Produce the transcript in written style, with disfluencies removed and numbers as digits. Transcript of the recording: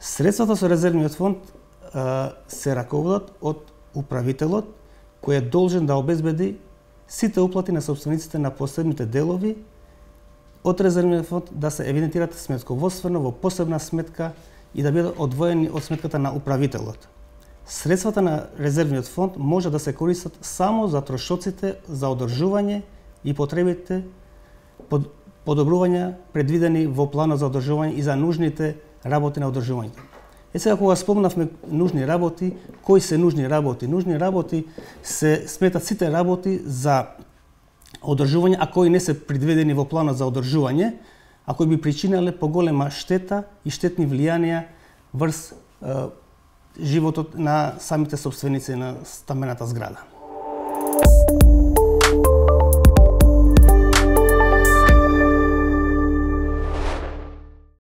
Средствата со резервниот фонд се раководат од управителот, кој е должен да обезбеди сите уплати на собствениците на посебните делови од резервниот фонд да се евидентираат сметководствено во посебна сметка и да бидат одвоени од сметката на управителот. Средствата на резервниот фонд може да се користат само за трошоците за одржување и потребите подобрувања предвидени во планот за одржување и за нужните работи на одржувањето. Сега кога спомнавме нужни работи, кои се нужни работи? Нужни работи се сметат сите работи за одржување, а кои не се предвидени во планот за одржување, а кои би причинеле поголема штета и штетни влијанија врз животот на самите собственици на стамбената зграда.